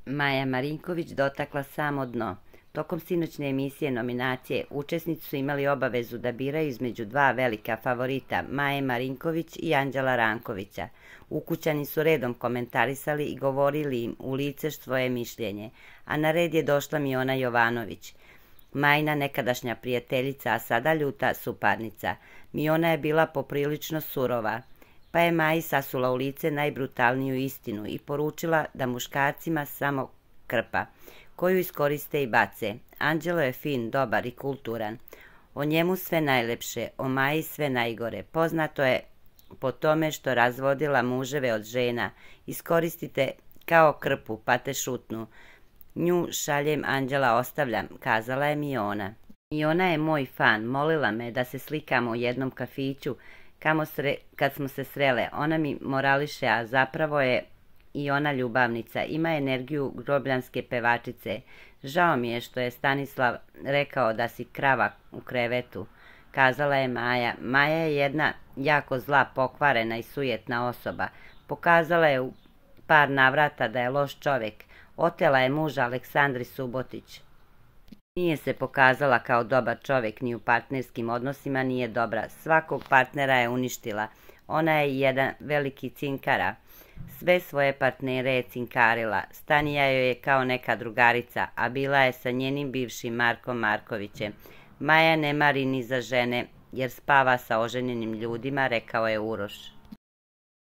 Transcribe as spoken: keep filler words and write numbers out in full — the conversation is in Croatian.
Maja Marinković dotakla samo dno. Tokom sinoćne emisije nominacije učesnici su imali obavezu da biraju između dva velika favorita, Maje Marinković i Anđela Rankovića. Ukućani su redom komentarisali i govorili im u lice svoje mišljenje, a na red je došla Miona Jovanović, Majina nekadašnja prijateljica, a sada ljuta suparnica. Miona je bila poprilično surova, pa je Maji sasula u lice najbrutalniju istinu i poručila da muškarcima samo krpa, koju iskoriste i bace. Anđelo je fin, dobar i kulturan. O njemu sve najlepše, o Maji sve najgore. Poznato je po tome što razvodila muževe od žena. Iskoristite kao krpu, pa te šutnu. Nju šaljem, Anđela ostavljam, kazala je Miona. Miona je moj fan, molila me da se slikamo u jednom kafiću kamo sre, kad smo se srele. Ona mi morališe, a zapravo je i ona ljubavnica, ima energiju grobljanske pevačice. Žao mi je što je Stanislav rekao da si krava u krevetu, kazala je Maja. Maja je jedna jako zla, pokvarena i sujetna osoba. Pokazala je u par navrata da je loš čovjek. Otela je muža Aleksandri Subotić. Nije se pokazala kao dobar čovjek, ni u partnerskim odnosima nije dobra. Svakog partnera je uništila. Ona je jedan veliki cinkara. Sve svoje partnere je cinkarila. Stanija joj je kao neka drugarica, a bila je sa njenim bivšim Markom Markovićem. Maja ne mari ni za žene, jer spava sa oženjenim ljudima, rekao je Uroš.